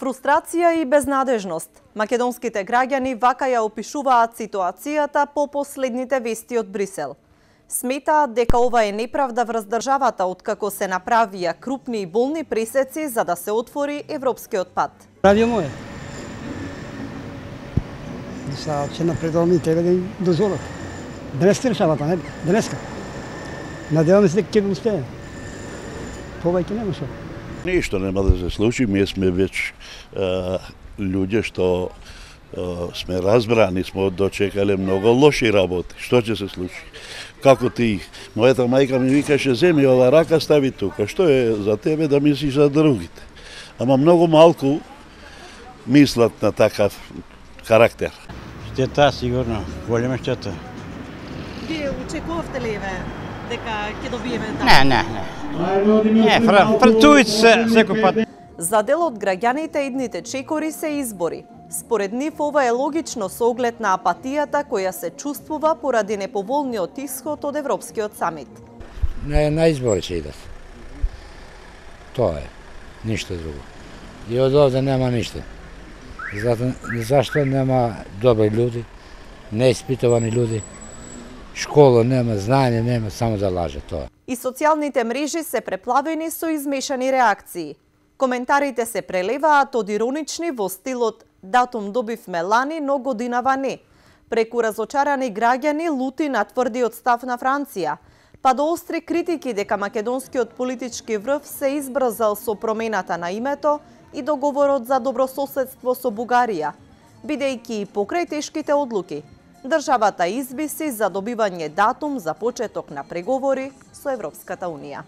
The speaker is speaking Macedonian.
Фрустрација и безнадежност. Македонските граѓани вака ја опишуваат ситуацијата по последните вести од Брисел. Сметаат дека ова е неправда врз државата откако се направија крупни и болни пресеци за да се отвори европскиот пат. Радио моје. Са ќе напредуваме и тебе да им дозволат. Денеска решавата, не? Денеска. Надеваме се дека ќе го успееме. Повеќе нема што. Ништо нема да се случи, ние сме веќе луѓе што сме разбрани, сме дочекале многу лоши работи. Што ќе се случи? Како ти, мојата мајка ми викаше, земи ова рака, стави тука. Што е за тебе да мислиш за другите? Ама многу малку мислат на такав карактер. Штета, сигурно, голема штета. Вие очекувавте ли дека ќе добиеме така? Не. Фртуит се секој пат. За дел од граѓаните идните чекори се избори. Според нив ова е логично со оглед на апатијата која се чувствува поради неповолниот исход од Европскиот самит. На избори ќе идат. Тоа е, ништо друго. И од овде нема ништо. Зашто нема добри луѓе, неиспитувани луѓе, школа нема, знаење нема, само да лаже тоа. И социјалните мрежи се преплавени со измешани реакции. Коментарите се прелеваат од иронични во стилот «Датум добивме лани, но годинава не», преку разочарани граѓани лути на тврдиот став на Франција, па до остри критики дека македонскиот политички врв се избрзал со промената на името и договорот за добрососедство со Бугарија, бидејќи и покрај тешките одлуки, државата извиси за добивање датум за почеток на преговори со Европската Унија.